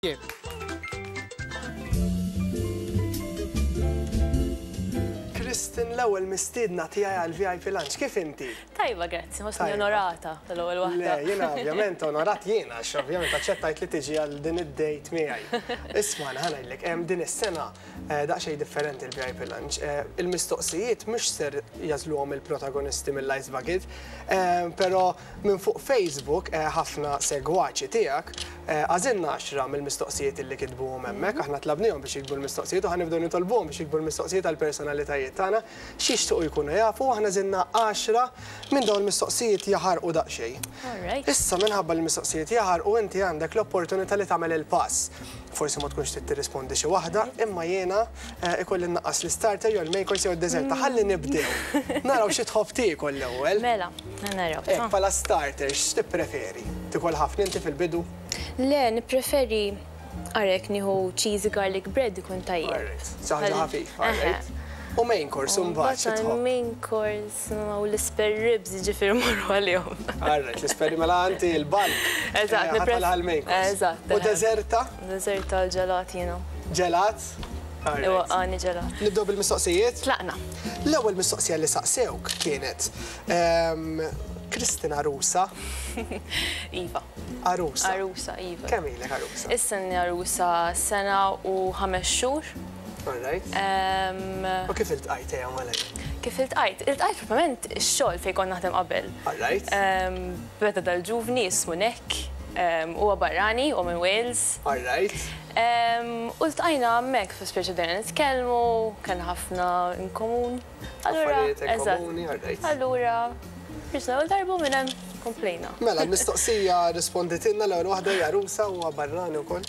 Jien. Kristin l-ewwel mistiedna tiegħi għal VIP Lunch. Kif inti? Tajba, grazzi, ħossni onorata tal-ewwel waħda. Le, jiena ovvjament onorat jiena għax ovvjament aċċettajt li tiġi għal din id-date miegħi. Isma' ħa ngħidlek, hemm din is-sena eh, daqsxejn differenti l-VIP Lunch. Eh, il-mistoqsijiet mhux ser jażluhom il-protagonisti mill-Ice Bucket, eh, però Minn fuq Facebook, ħafna segwaċi tiegħek, għażilna għaxra mill-mistoqsijiet illi kitbuhom hemmhekk. Aħna tlabnihom biex jiktbu l-mistoqsijiet u ħa nibdew nitolbuhom biex jiktbu l-mistoqsijiet għall-personalitajiet tagħna x'jixtiequ jkunu jafu u aħna għażilna għaxra minn dawn il-mistoqsijiet jaħarqu daqsxejn. Issa minħabba li l-mistoqsijiet jaħarqu inti għandek l-opportunità li tagħmel il-pass. Forsi ma tkunx trid tirrispondi xi waħda, imma jiena ikolli nnaqqas l-istarter jew il-main course jew id-deżerta. Ħalli nibdew. Naraw xi tħobb tiekol l-ewwel. Mela, naraw. Hekk bħala starter x'tippreferi? Tiekol ħafna inti fil-bidu? Le, nippreferi ara jekk nieħu cheesy garlic bread ikun tajjeb. Alright, xi ħaġa ħafifa, alright. U main course imbagħad xi tħobb? Main course u l-ispare ribs jiġifieri mmorru għalihom. Alright, l-ispare mela inti l-bulk. Eżatt, nippreferi. Għal-main course. Eżatt. U deżerta? Deżerta l-ġelat jiena. Ġelat? Iwaqqagħni ġelat. Nibdew bil-mistoqsijiet? Tlaqna. L-ewwel mistoqsija li saqsewk kienet Kristin għarusa? Iva. Għarusa. Għarusa, iva. Kemm ilek għarusa? Issa inni għarusa sena u ħames xhur. All right. U kif iltqajt ejja malajr? Kif iltqajt? Iltqajt propjament ix-xogħol fejn kont naħdem qabel. All right. Beda dal-ġuvni jismu Nick, huwa barrani, huwa minn Wales. All right. U ltqajna hemmhekk, fi speċi bdejna nitkellmu, kellna ħafna in komun. Allura, Affarijiet in komuni, all right. Allura, ħriġna l-ewwel darba u minn hemm komplejna. Mela, l-mistoqsija risponditilna l-ewwel waħda hija għarusa u huwa barrani wkoll.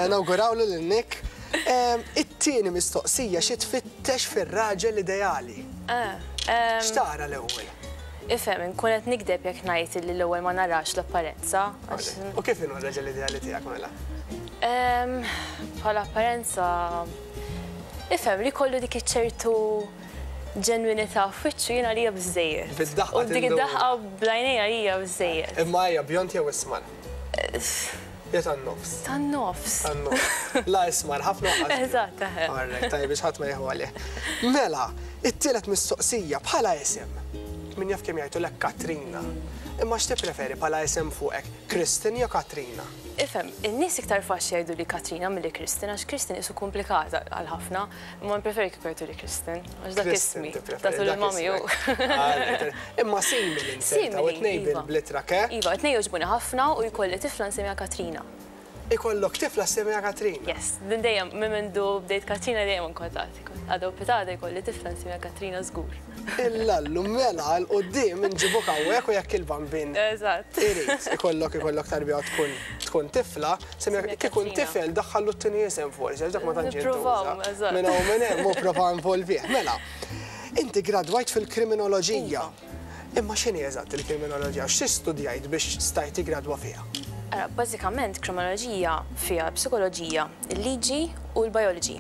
Nawgurawlu lil Nick. It-tieni mistoqsija xi tfittex fir-raġel ideali? X'tara l-ewwel? Ifhem, inkun qed nigdeb jekk ngħid illi l-ewwel ma narax l-apparenza. U kif inhu r-raġel ideali tiegħek mela? Bħala apparenza, ifhem li jkollu dik iċ-ċertu ġenwinità f'wiċċu jien għalija biżżejjed. Bid-daħqa U dik id-daħqa bl-għajnejn għalija biżżejjed. Imma hija bjond jew ismar? Jew tan-nofs? Tan-nofs. Tan-nofs. La ismar ħafna u lanqas. Eżatt, eħe. All right, tajjeb biex ħadd ma jieħu għalih. Mela, it-tielet mistoqsija bħala isem. Min jaf kemm jgħidulek Katrina. Imma x'tippreferi bħala isem fuqek, Kristin jew Katrina? Ifhem, in-nies iktar faċli jgħiduli Katrina milli Kristin għax Kristin qisu komplikata għal ħafna. Imma npreferi kieku jgħiduli Kristen, għax dak ismi. Tatu lil mami hu. Imma simili nserta u t-tnejn bl-ittra ke? Iva, t-tnejn jogħġbuni ħafna u jkolli tifla nsemmiha Katrina. Ikollok tifla ssemmiha Katrina? Yes, din dejjem minn mindu bdejt Katrina dejjem inkwetat. Għada u pitgħada jkolli tifla nsemmiha Katrina żgur. Illallu mela 'l quddiem inġibuk hawnhekk u jekk il-Bambin irid ikollok ikollok tarbija u tkun tkun tifla, semmiha kieku tifel daħħallu t-tieni isem forsi għax dak ma tantx jintuża. Minn hawn u minn hemm hu prova involvih. Mela, inti gradwajt fil-kriminoloġija. Imma x'inhi eżatt il-kriminoloġija? Xi studjajt biex stajt tiggradwa fiha? Ara, bażikament kriminoloġija fiha l-psikoloġija, il-liġi u l-biology.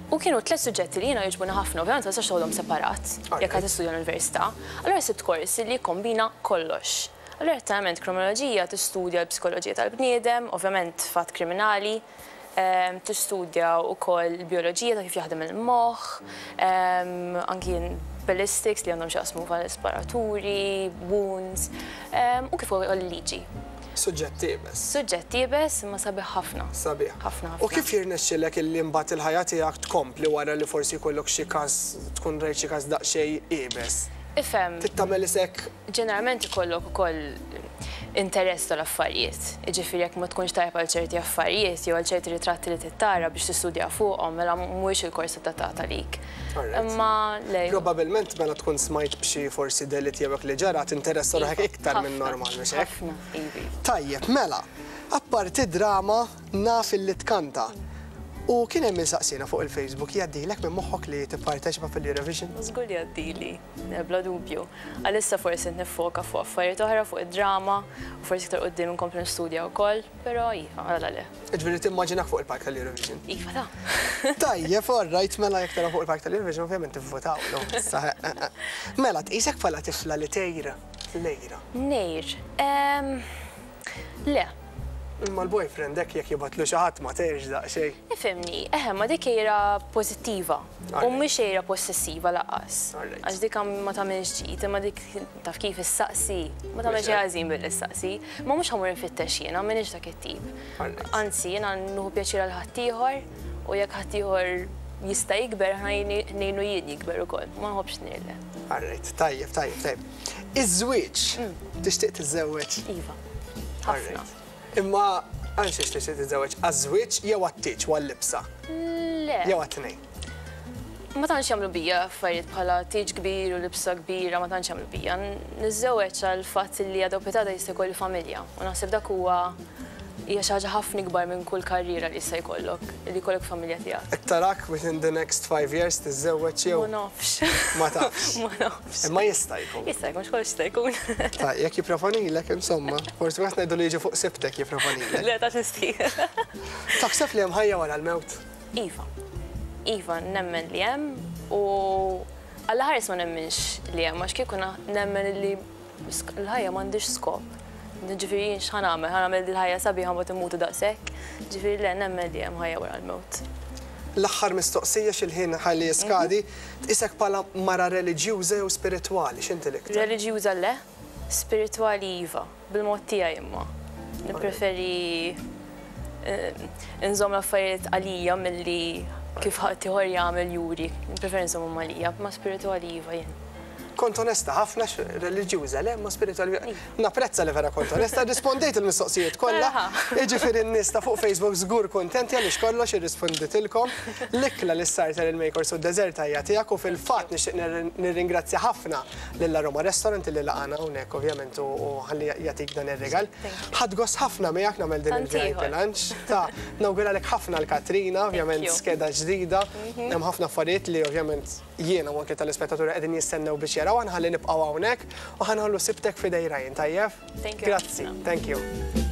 U kienu tlett suġġetti li jiena jogħġbuni ħafna, ovvjament ma tistax toħodhom separat jekk qed tistudja l-università. Allura sibt kors li jikkombina kollox. Allura letteralment kriminoloġija tistudja l-psikoloġija tal-bniedem, ovvjament fatt kriminali, tistudja wkoll il-bijoloġija ta' kif jaħdem il-moħħ, anki ballistics li għandhom x'jaqsmu mal-isparaturi, wounds, u kif ukoll il-liġi. Suġġett iebes. Suġġett iebes imma sabiħ ħafna. Sabiħ. Ħafna ħafna. U kif jirnexxilek illi mbagħad il-ħajja tiegħek tkompli wara li forsi jkollok xi każ, tkun rajt xi każ daqsxejn iebes? Ifhem. Trid tagħmel isek. Ġeneralment ikollok ukoll interess tal-affarijiet. Jiġifieri jekk ma tkunx tajjeb għal ċerti affarijiet jew għal ċerti ritratti li trid tara biex tistudja fuqhom, mela mhuwiex il-kors adattat għalik. Imma le. Probabilment mela tkun smajt b'xi forsi delitt jew hekk li ġara, tinteressa ruħek iktar minn normal, mhux hekk? Ħafna, iva. Tajjeb, mela, apparti d-drama naf illi tkanta. U kien hemm min saqsiena fuq il-Facebook, jgħaddilek minn moħħok li tipparteċipa fil-Eurovision? Żgur li jgħaddili, bla dubju. Għalissa forsi qed niffoka fuq affarijiet oħra, fuq id-drama, u forsi iktar quddiem inkompli nistudja wkoll, però iva, għala le. Jiġifieri timmaġinak fuq il-palk tal-Eurovision? Iva ta. Tajjeb, all right, mela jekk tara fuq il-palk tal-Eurovision ovvjament tivvotawlu. Mela, tqisek bħala tifla li tgħir? L-għira. Ngħir? Le. Imma l-boyfriend hekk jekk jibgħatlu xi ħadd ma tgħirx daqsxejn? Ifhimni, eħe, ma dik għira pożittiva u mhix għira possessiva lanqas. Għax dik ma tagħmilx ġid, imma dik taf kif issaqsi, ma tagħmel xejn ħażin billi ssaqsi. Ma mhux ħa mmur infittex jiena, m'iniex dak it-tip. Anzi, jiena nieħu pjaċir għal ħaddieħor u jekk ħaddieħor jista' jikber, ħa ngħinu jien jikber ukoll. Ma nħobbx ngħir le. Alright, tajjeb, tajjeb, tajjeb. Iż-żwieġ, tixtieq tiżżewweġ? Iva. Ħafna. Imma għal xiex tixtieq tiżżewweġ? Għaż-żwieġ jew għat-tieġ u għal-libsa? Le. Jew għat-tnejn? Ma tantx jagħmlu bija affarijiet bħala tieġ kbir u libsa kbira, ma tantx jagħmlu bija. Niżżewweġ għall-fatt li għada u pitgħada jista' jkolli familja u naħseb dak huwa hija xi ħaġa ħafna ikbar minn kull karriera li jista' jkollok, li jkollok familja tiegħek. Qed tarak within the next five years tiżżewweġ jew? Ma nafx. Ma tafx. Ma nafx. Imma jista' jkun. Jista' jkun, x'kollox jista' jkun. Ta' jekk jipproponilek, insomma, forsi wieħed ngħidu li jiġi fuq sibtek jipproponilek. Le, ta' x'nistħi. Taħseb li hemm ħajja wara l-mewt? Iva. Iva, nemmen li hemm u Alla ħares ma nemminx li hemm għax kieku nemmen li l-ħajja m'għandhiex skop. Ġifieri jien x'ħa nagħmel? Ħa nagħmel dil-ħajja sabiħa mbagħad immutu daqshekk? Ġifieri le, nemmen li hemm ħajja wara l-mewt. L-aħħar mistoqsija x'il-ħin ħalli jiskadi, tqisek bħala mara reliġjuża jew spiritwali, x'inti l-iktar? Reliġjuża le, spiritwali iva, bil-mod tiegħi imma. Nippreferi nżomm l-affarijiet għalija milli kif ħaddieħor jagħmel juri. Nippreferi nżommhom għalija, imma spiritwali iva jien. Kont onesta ħafna, reliġjuża le, imma spiritwali. Napprezza li vera kont onesta, rrispondejt il-mistoqsijiet kollha. Jiġifieri n-nies ta' fuq Facebook żgur kuntenti għaliex kollox irrisponditilkom. L-ikla li ssarter il-main course u d-deżerta hija tiegħek u fil-fatt nixtieq nirringrazzja ħafna lil Aroma Restaurant li laqagħna hawnhekk ovvjament u ħalli jagħtik dan ir-rigal. Ħadt gost ħafna miegħek nagħmel din il-VIP lunch. Ta' nawguralek ħafna l-Katrina, ovvjament skeda ġdida. Hemm ħafna affarijiet li ovvjament Jiena u anke telespettaturi qegħdin jistennew biex jaraw, ħa nħalli nibqgħu hawnhekk u ħa nħallu sibtek f'idej Ryan, tajjeb? Thank you. Grazzi, thank you.